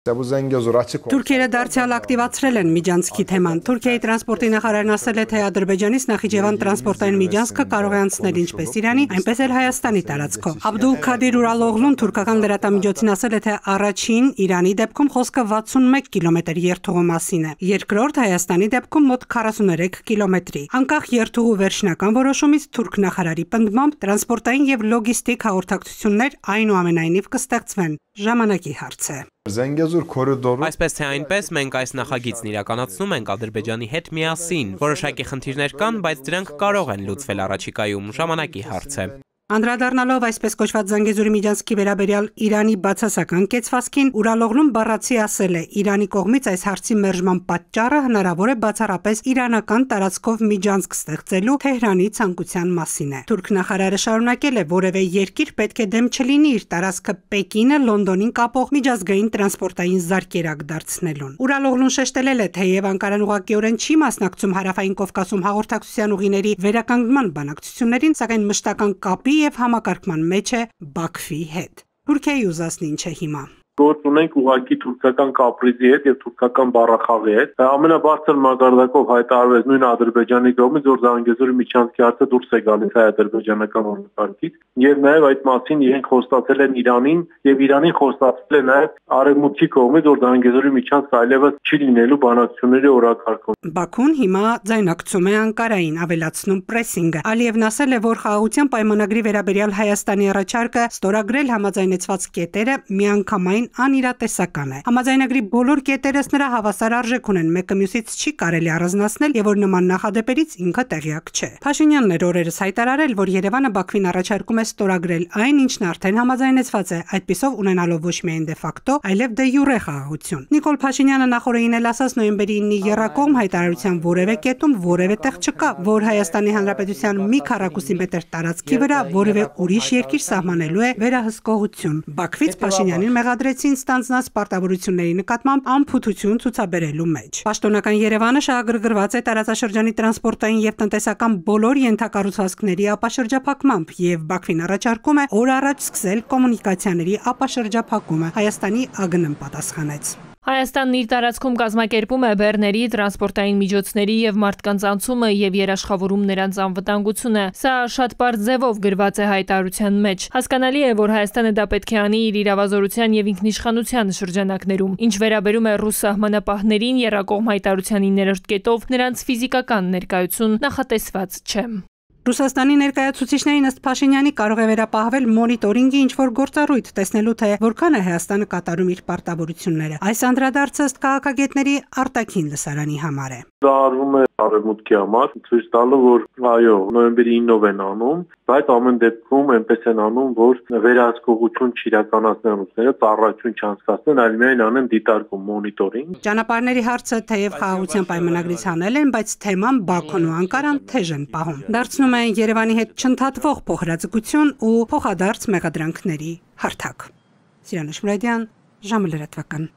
Թուրքերը դարձյալ ակտիվացրել են միջանցքի թեման։ Թուրքիայի տրանսպորտի նախարարն ասել է, թե Ադրբեջանից Նախիջևան տրանսպորտային միջանցքը կարող է անցնել ինչպես Իրանի, այնպես էլ Հայաստանի տարածքով։ Աբդուլ Քադիր Ուրալօղլուն թուրքական լրատվամիջոցին ասել է, թե առաջին Իրանի դեպքում խոսքը 61 կիլոմետր երթուղու մասին է, երկրորդ Հայաստանի դեպքում մոտ 43 կիլոմետրի։ Անկախ երթուղու վերջնական որոշումից թուրք նախարարի պնդմամբ տրանսպորտային եւ լոգիստիկ հաղորդակցություններ այնուամենայնիվ կստեղծվեն։ Ժամանակի հարց է։ Այսպես թե այնպես մենք այս նախագիծն իրականացնում ենք Ադրբեջանի հետ միասին։ Որոշակի խնդիրներ կան, բայց դրանք կարող են լուծվել առաջիկայում, ժամանակի հարց է։ Անդրադառնալով այսպես կոչված Զանգեզուրի միջանցքի վերաբերյալ Իրանի բացասական կեցվածքին, Ուրալօղլուն բառացի ասել է, Իրանի կողմից այս հարցի մերժման պատճառը հնարավոր է բացառապես իրանական տարածքով միջանցք ստեղծելու Թեհրանի ցանկության մասին է։ Թուրք նախարարը շարունակել է, որևէ երկիր պետք է դեմ չլինի իր տարածքը Պեկինը Լոնդոնին կապող միջազգային տրանսպորտային զարկերակ դարձնելուն։ Ուրալօղլուն շեշտել է, թեև Անկարան ուղղակիորեն չի մասնակցում Հարավային Կովկասում հաղորդակցության ուղիների վերականգնման բանակցություններին, սակայն մշտական կապի եւ համակարգման մեջ է Բաքվի հետ։ Թուրքիայի ուզածն ինչ է հիմա։ Գործ ունենք ուղղակի թուրքական կապրիզի հետ եւ թուրքական բառախաղի հետ։ Ամենաբարձր մակարդակով հայտարարվեց նույն Ադրբեջանի կողմից, որ Զանգեզուրի միջանցքի հարցը դուրս է գալիս հայ-ադրբեջանական օրենսգրքից եւ նաեւ այդ մասին իրենք խոստացել են Իրանին եւ Իրանին խոստացել է նաեւ Արևմուտքի կողմից, որ Զանգեզուրի միջանցքը այլևս չի լինելու բանակցությունների օրակարգում։ Բաքուն հիմա ձայնակցում է Անկարային, ավելացնում պրեսինգը։ Ալիևն ասել է, որ խաղաղության պայմանագրի վերաբերյալ Հայաստանի առաջարկը ստորագրել համաձայնեցված կետերը միանգամայն անիրատեսական է։ Համաձայնագրի բոլոր կետերս նրա հավասար արժեք ունեն, մեկը մյուսից չի կարելի առանձնացնել եւ որ նման նախադեպերից ինքը տեղյակ չէ։ Փաշինյանն էր օրերս հայտարարել, որ Երևանը Բաքվին առաջարկում է ստորագրել այն, ինչն արդեն համաձայնեցված է, այդպիսով ունենալով ոչ միայն դե ֆակտո, այլև դե յուրե խաղաղություն։ Նիկոլ Փաշինյանը նախորդին էլ ասաց նոյեմբերի 9-ի եռակողմ հայտարարության որևէ կետում որևէ տեղ չկա, որ Հայաստանի Հանրապետության մի քառակուսի մետր տարածքի վրա որևէ ուրիշ երկիր սահմանելու է վերահսկողություն։ Բաքվից Փաշինյանին մեղադրեցին ստանձնած պարտավորությունների նկատմամբ անփութություն ցուցաբերելու մեջ։ Պաշտոնական Երևանը շահագրգռված է տարածաշրջանի տրանսպորտային եւ տնտեսական բոլոր ենթակառուցվածքների ապաշրջափակմամբ եւ Բաքվին առաջարկում է օր առաջ սկսել կոմունիկացիաների ապաշրջափակումը։ Հայաստանի ԱԳՆ-ն պատասխանեց։ Հայաստանն իր տարածքում կազմակերպում է բեռների, տրանսպորտային միջոցների եւ մարդկանց անցումը եւ երաշխավորում նրանց անվտանգությունը։ Սա շատ պարզ ձևով գրված է հայտարարության մեջ։ Հասկանալի է, որ Հայաստանը դա պետք է անի իր իրավազորության եւ ինքնիշխանության շրջանակներում։ Ինչ վերաբերում է ռուս սահմանապահներին, եռակողմ հայտարարության 9-րդ կետով նրանց ֆիզիկական ներկայություն նախատեսված չէ։ Ռուսաստանի ներկայացուցիչներին ըստ Փաշինյանի կարող է վերապահվել մոնիտորինգի ինչ-որ գործառույթ, տեսնելու թե որքան է Հայաստանը կատարում իր պարտավորությունները։ Այս անդրադարձը ըստ քաղաքագետների արտաքին լսարանի համար է։ Դա արվում է Արևմուտքի համար, ցույց տալով, որ այո, նոյեմբերի 9-ով են անում, բայց ամեն դեպքում այնպես են անում, որ վերահսկողություն չիրականացնեն ռուսները, ծառայություն չանցկացնեն, այլ միայն անեն դիտարկում, մոնիտորինգ։ Ճանապարհների հարցը թեև խաղաղության պայմանագրից հանել են, բայց թեման Բաքուն ու Անկարան թեժ են պահում։ Դարձնում են Երևանի հետ չընդհատվող փոխհրաձգություն ու փոխադարձ մեղադրանքների հարթակ։ Սիրանուշ Մուրադյան, ժամը լրատվական։